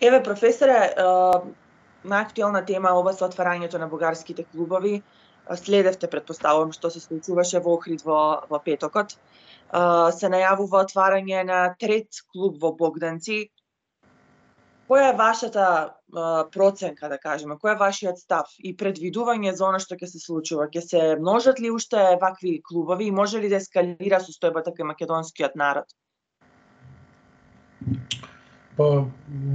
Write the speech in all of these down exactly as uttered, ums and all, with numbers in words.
Еве, професоре, најактуелна тема е ова со отварањето на бугарските клубови. Следевте, претпоставувам, што се случуваше во Охрид во, во петокот. Се најавува отварање на трет клуб во Богданци. Која е вашата проценка, да кажеме, кој е вашиот став и предвидување за она што ќе се случува? Ќе се множат ли уште вакви клубови и може ли да ескалира состојбата кај македонскиот народ? Па,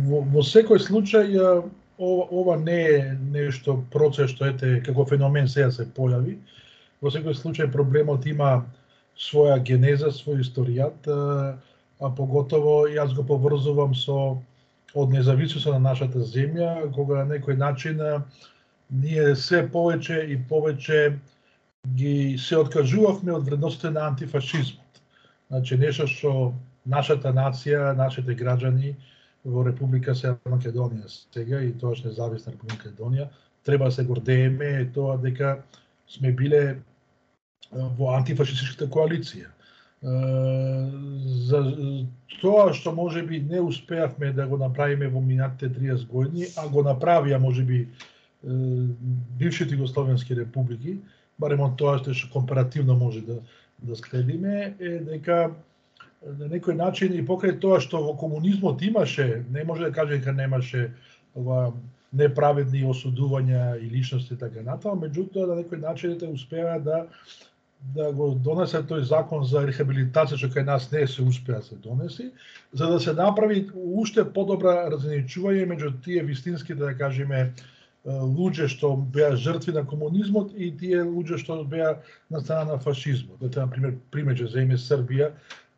во, во секој случај, ова, ова не е нешто процес што ете како феномен сега се појави. Во секој случај проблемот има своја генеза, свој историјат, а поготово јас го поврзувам со од независноста на нашата земја, кога на некој начин ние се повеќе и повеќе ги се откажувавме од вредностите на антифашизмот. Значи нешто што нашата нација, нашите граѓани во Република Северна Македонија сега и тоаш независна Република Македонија треба да се гордееме е тоа дека сме биле во антифашистичката коалиција. За тоа што можеби не успеавме да го направиме во минатите триесет години, а го направија можеби бившите југословенски републики, барем од тоа што компаративно може да да следиме, е дека на некој начин и покрај тоа што во комунизмот имаше, не може да каже дека немаше ова неправедни осудувања и личности и така натаму, меѓутоа на некој начин те успеа да да го донесе тој закон за рехабилитација што кај нас не се успеа се донеси, за да се направи уште подобра разграничување меѓу тие вистински, да кажеме, луѓе што беа жртви на комунизмот и тие луѓе што беа на страна на фашизмот. Ете, на пример, пример ќе земе Србија,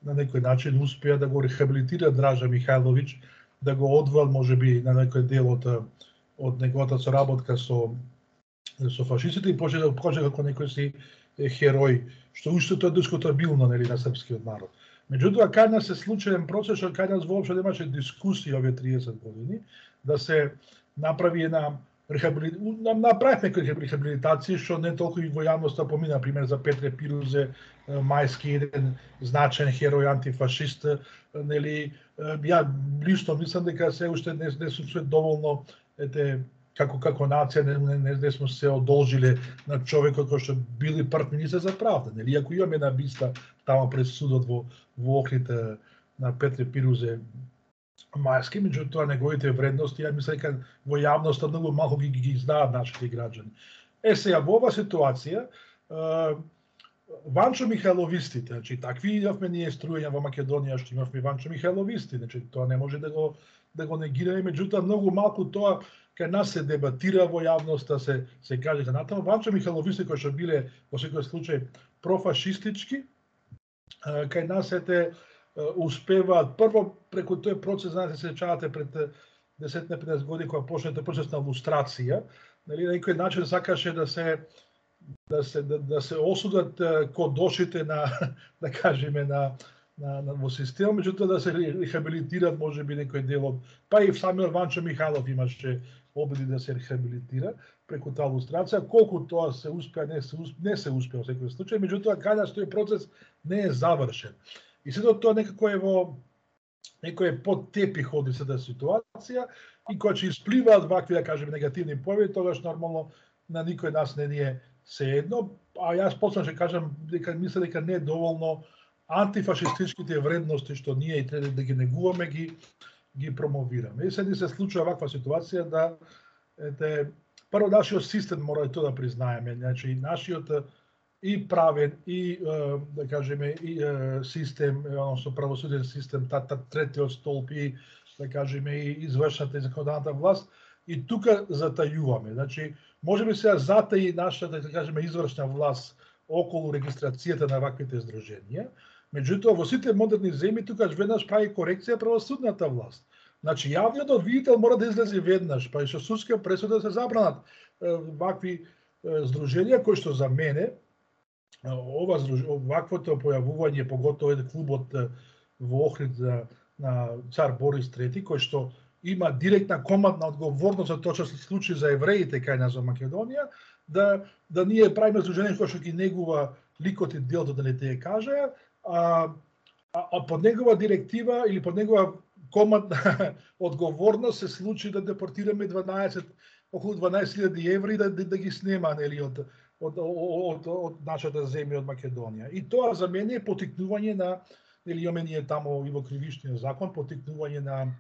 на некој начин успеа да го рехабилитира Дража Михајловиќ, да го одвал можеби на некој дел од од неговата соработка со со фашистите и почне да покаже како некој си херој, што уште тоа дискутабилно, нели, на српскиот народ. Меѓутоа, кај нас се случи еден процес, што кај нас воопшто немаше дискусија овие триесет години, да се направи една рехабилитација, направивме некои рехабилитации, што не толку и во јавноста помина, например, за Петре Пирузе, Мајски, еден значен херој антифашист, нели, ја лично мислам дека се уште не, не сме доволно, ете, како како нација не, не, не сме се одолжиле на човекот кој што бил и прв министер за правда, нели, иако имаме една биста тamo пред судот во во Охрид на Петре Пирузе Мајски, меѓутоа неговите вредности, ја мислам дека во јавноста многу малку ги ги знаат нашите граѓани. Е сега во оваа ситуација, Ванчо Михајловистите, значи такви имавме ние струјања во Македонија што имавме Ванчо Михајловисти, значи тоа не може да го да го негираме, меѓутоа многу малку тоа кај нас се дебатира во јавноста, се се каже за натаму. Ванчо Михајловисти кои што биле во секој случај профашистички, кај нас ете успеваат прво преку тој процес, знаете, се сеќавате пред десет на петнаесет години кога почна тој процес на лустрација, нели, на некој начин сакаше да се да се да, да се осудат кодошите на, да кажеме, на на, на во системот, меѓутоа да се рехабилитират можеби некој дел од, па и самиот Ванчо Михајлов имаше обиди да се рехабилитира преку таа лустрација, колку тоа се успеа, не се успеа, не се успеа во секој случај, меѓутоа кај нас тој процес не е завршен. И сето тоа некако е во некој под тепих оди сета ситуација и кога ќе испливаат вакви, да кажеме, негативни појави, тогаш нормално на никој нас не ни е сеедно, а јас посебно ќе кажам дека мислам дека не е доволно антифашистичките вредности што ние и треба да ги негуваме, ги ги промовираме. И сега ни се случува ваква ситуација да ете прво нашиот систем мора и тоа да признаеме, значи нашиот и правен и да кажеме и систем, односно правосуден систем, тата третиот столб и да кажеме и извршната и законодателната власт, и тука затајуваме. Значи можеби сега затаи нашата, да кажеме, извршна власт околу регистрацијата на ваквите здруженија. Меѓутоа во сите модерни земји тука веднаш прави корекција правосудната власт. Значи јавниот обвинител мора да излезе веднаш, па и со судска пресуда се забранат вакви здруженија кои што за мене ова ваквото појавување, поготово е клубот во Охрид на цар Борис трети, кој што има директна командна одговорност за тоа што се случи за евреите кај нас во Македонија, да да ние правиме здружение кој што ги негува ликот и делото, да не те кажа, а, а, а под негова директива или под негова командна одговорност се случи да депортираме дванаесет околу дванаесет илјади евра и да, да, да ги снема, нели, од од од од нашата земја, од Македонија. И тоа за мене е потикнување на, нели, имаме ние таму и во кривичниот закон, потикнување на,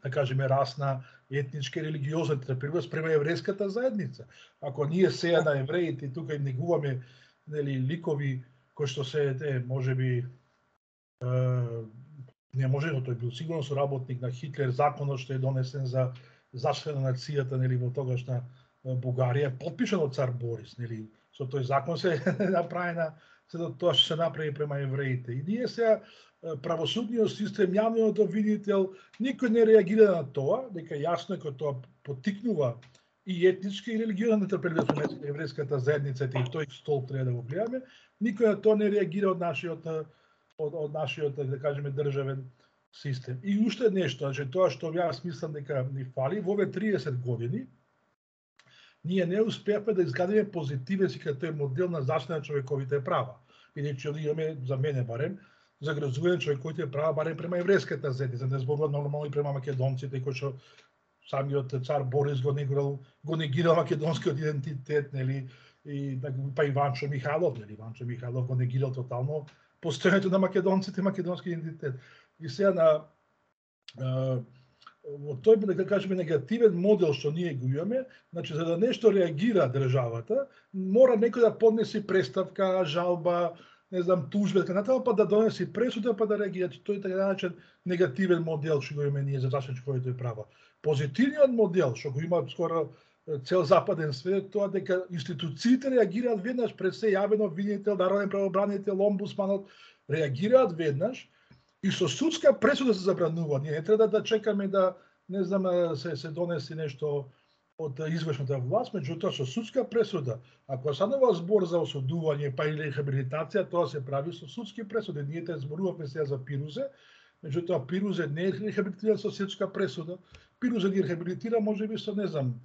да кажеме, расна, етничка и религиозна нетрпеливост према еврејската заедница. Ако ние сега на евреите тука им негуваме, нели, ликови кои што се, е, можеби, е, не може, но тој бил сигурно соработник на Хитлер, законот што е донесен за заштита на нацијата, нели, во тогашна Бугарија, подпишан од цар Борис, нели, со тој закон се направена, се тоа што се направи према евреите. И ние сега правосудниот систем, јавниот обвинител, никој не реагира на тоа, дека јасно е кој тоа потикнува и етнички и религиозна нетрпеливост меѓу еврејската заедница, и тој столб треба да го гледаме. Никој на тоа не реагира од нашиот од, од нашиот, да кажеме, државен систем. И уште нешто, значи тоа што јас мислам дека ни фали во овие триесет години, ние не успеавме да изградиме позитивен си како тој модел на заштита на човековите права. Бидејќи имаме, за мене барем, загрозување на човековите права барем према еврејската заедница, не зборувам нормално и према македонците, кои што самиот цар Борис го негирал, го негирал македонскиот идентитет, нели, и па и Ванчо Михайлов, нели, Ванчо Михайлов го негирал тотално постојањето на македонците, македонски идентитет. И сега на во тој, да кажеме, негативен модел што ние го имаме, значи за да нешто реагира државата, мора некој да поднесе преставка, жалба, не знам, тужба, така натаму, па да донесе пресуда, па да реагира. Тој е така наречен негативен модел што го имаме ние за заштита на човековите права. Позитивниот модел што го има скоро цел западен свет, тоа дека институциите реагираат веднаш, пред се јавен обвинител, народен правобранител, омбудсманот, реагираат веднаш и со судска пресуда се забранува. Ние не треба да чекаме да, не знам, се, се донеси нешто од извршната власт, меѓутоа со судска пресуда. Ако станува збор за осудување па или рехабилитација, тоа се прави со судски пресуди. Ние те зборувавме сега за Пирузе, меѓутоа Пирузе не е рехабилитиран со судска пресуда. Пирузе ги рехабилитира можеби со, не знам,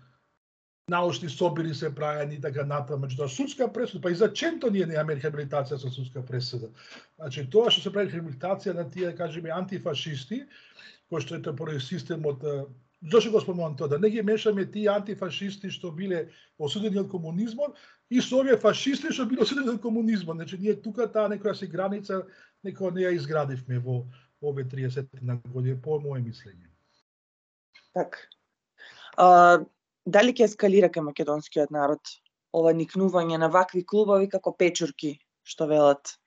научни собири се правени и така натаму, меѓутоа судска пресуда, па и за Ченто ние немаме рехабилитација со судска пресуда. Значи тоа што се прави рехабилитација на тие, да кажеме, антифашисти, кои што е поради системот, зошто го спомнувам тоа, да не ги мешаме тие антифашисти што биле осудени од комунизмот и со овие фашисти што биле осудени од комунизмот. Значи ние тука таа некоја си граница некоја не ја изградивме во овие триесет години, по мое мислење. Така. А, дали ќе ескалира кај македонскиот народ ова никнување на вакви клубови како печурки, што велат?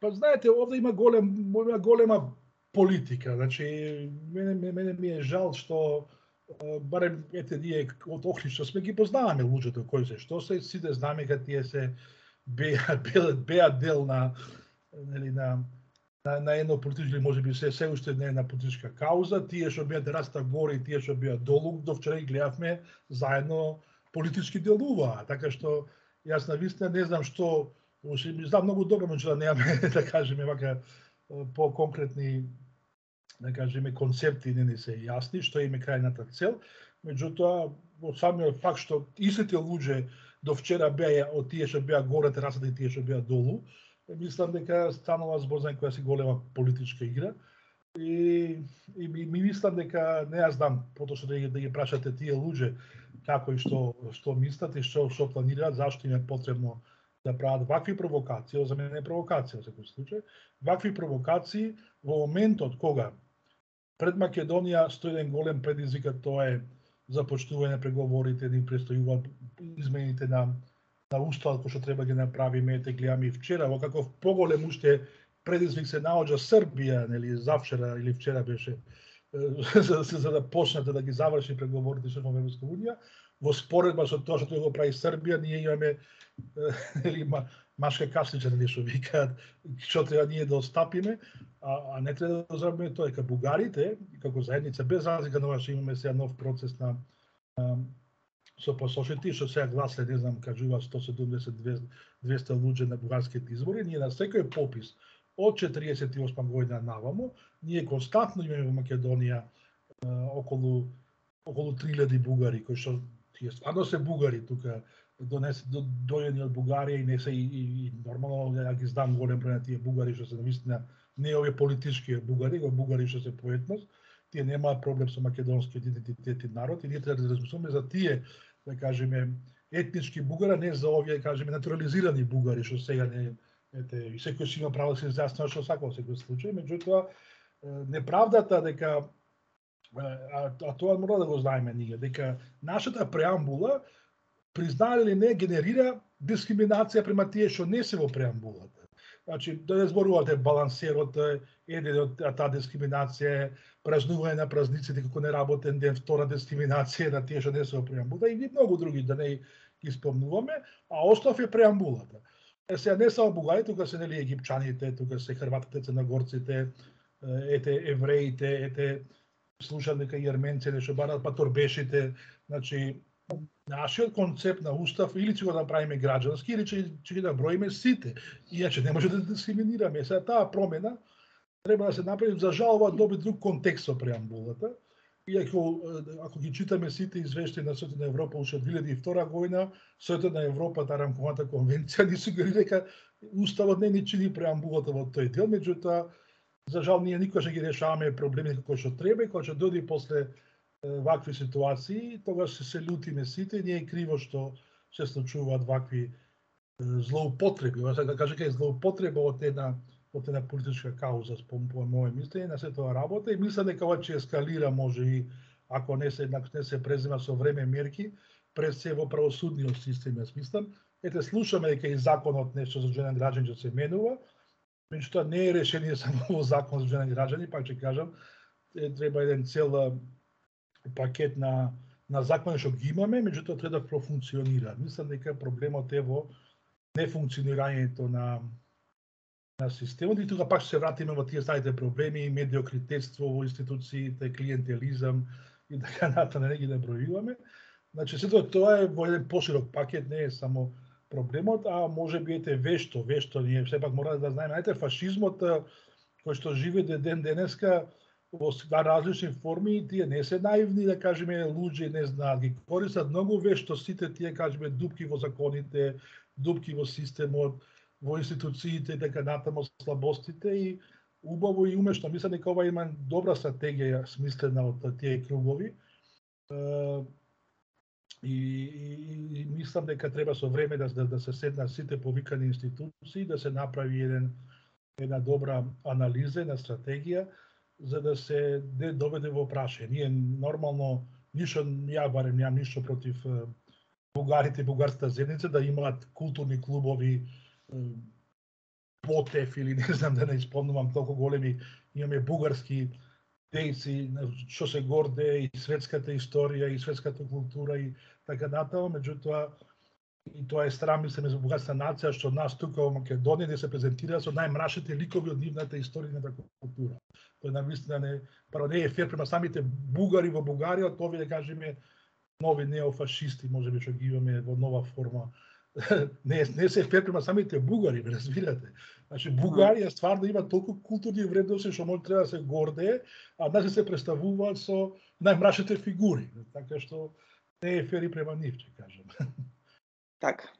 Па знаете, овде има голем, има голема политика. Значи, мене, мене ми е жал што барем ете ние од Охрид што сме ги познаваме луѓето кои се што се, сите знаме дека тие се беа, беа, беа дел на, нели, на на, на едно политичко, можеби се се уште не една политичка кауза, тие што беа раста горе и тие што беа долу, до вчера ги гледавме заедно политички делуваа, така што јас навистина не знам што, ми знам многу добро, меѓутоа немаме да кажеме вака по конкретни, да кажеме, концепти не ни се јасни што им е крајната цел, меѓутоа во самиот факт што истите луѓе до вчера беа од тие што беа горе терасата и тие што беа долу, мислам дека станува збор за некоја си голема политичка игра и, и ми, ми мислам дека не ја знам потоа да ги, да ги прашате тие луѓе како и што што мислат и што што планираат, зашто им е потребно да прават вакви провокации, за мене е провокација во секој случај, вакви провокации во моментот кога пред Македонија стои еден голем предизвик, тоа е започнување на преговорите, ни престојуваат измените на на уставот кој што треба ги направиме, те гледаме и вчера, во каков поголем уште предизвик се наоѓа Србија, нели, завчера или вчера беше, за, за да почнете да ги заврши преговорите со Европска унија, во споредба со тоа што го прави Србија, ние имаме нели, машка каслича, нели, што викаат, што треба ние да остапиме, а, а не треба да забравиме тоа, дека бугарите, како заедница, без разлика на ова што имаме сега нов процес на, на со посошите, што сега гласе, не знам, кажува сто седумдесет до двесте луѓе на бугарските избори, ние на секој попис од четириесет и осма година наваму, ние константно имаме во Македонија околу околу три илјади бугари кои што тие стварно се бугари тука, донесе дојдени од Бугарија и не се и, и, и нормално ја ги знам голем број на тие бугари што се навистина не овие политички бугари, го бугари што се по етнос, тие немаат проблем со македонскиот идентитет и народ и ние треба да размислуваме за тие, да кажеме, етнички бугара, не за овие, да кажеме, натурализирани бугари што сега не ете, и секој си има право да се изјаснува што сака во секој случај, меѓутоа неправдата дека а, а тоа мора да го знаеме ние, дека нашата преамбула признае или не генерира дискриминација према тие што не се во преамбулата. Значи, да не зборувате балансерот, еден од таа дискриминација е празнување на празниците како неработен ден, втора дискриминација на тие што не се во преамбулата и многу други да не ги спомнуваме, а остав е преамбулата. Е, сега не само бугари, тука се нели египчаните, тука се хрватите, црногорците, ете евреите, ете слушам дека и арменци нешто барат, па торбешите, значи нашиот концепт на устав или ќе го направиме граѓански или ќе ќе ги наброиме сите. Иначе не може да дискриминираме. Сега таа промена треба да се направи, за жал ова доби друг контекст со преамбулата. Иако ако ги читаме сите извештаи на Советот на Европа уште од две илјади и втора година, Советот на Европа, таа рамковата конвенција ни сугерира дека уставот не ни чини преамбулата во тој дел, меѓутоа за жал ние никогаш не ги решаваме проблеми како што треба и кога ќе дојде после вакви ситуации, тогаш се се лутиме сите, ние е криво што се случуваат вакви злоупотреби. Ова да кажа дека е злоупотреба од една од една политичка кауза, по моје мислење, на се тоа работа и мислам дека ова ќе ескалира, може и ако не се еднакво не се презема со време мерки, пред се во правосудниот систем, јас мислам. Ете слушаме дека и законот нешто за одреден граѓан ќе се менува, меѓутоа не е решение само во закон за одреден граѓани, пак ќе кажам, е, треба еден цел пакет на на закони што ги имаме, меѓутоа треба да профункционира. Мислам дека проблемот е во нефункционирањето на на системот и тука пак се вратиме во тие старите проблеми, медиокритетство во институциите, клиентелизам и така натаму, не ги набројуваме. Значи сето тоа е во еден поширок пакет, не е само проблемот, а може би ете вешто, вешто ние сепак мора да знаеме, ете фашизмот кој што живее ден денеска во различни форми, тие не се наивни, да кажеме, луѓе не знаат, ги користат многу вешто сите тие, кажеме, дупки во законите, дупки во системот, во институциите, дека натаму слабостите и убаво и умешно. Мислам дека ова има добра стратегија смислена од тие кругови. И, и, и мислам дека треба со време да, да, да се седнат сите повикани институции, да се направи еден, една добра анализа, една стратегија, за да се не доведе во прашање. Ние нормално, ништо, ја барем немам ништо против бугарите и бугарската заедница да имаат културни клубови, Потев или не знам да не испомнувам толку големи, имаме бугарски дејци што се горде и светската историја и светската култура и така натаму, меѓутоа и тоа е срам, мислиме за бугарска нација што нас тука во Македонија не се презентира со најмрачните ликови од нивната историја и култура. Тоа навистина не, паро не е фер према самите бугари во Бугарија, тоа да кажеме нови неофашисти, можеби што ги имаме во нова форма. не, не се фер према самите бугари, разбирате. Значи Бугарија стварно има толку културни вредности што може треба да се гордее, а нас се представуваат со најмрачните фигури, така што не е фер и према нив, ќе кажам. Така.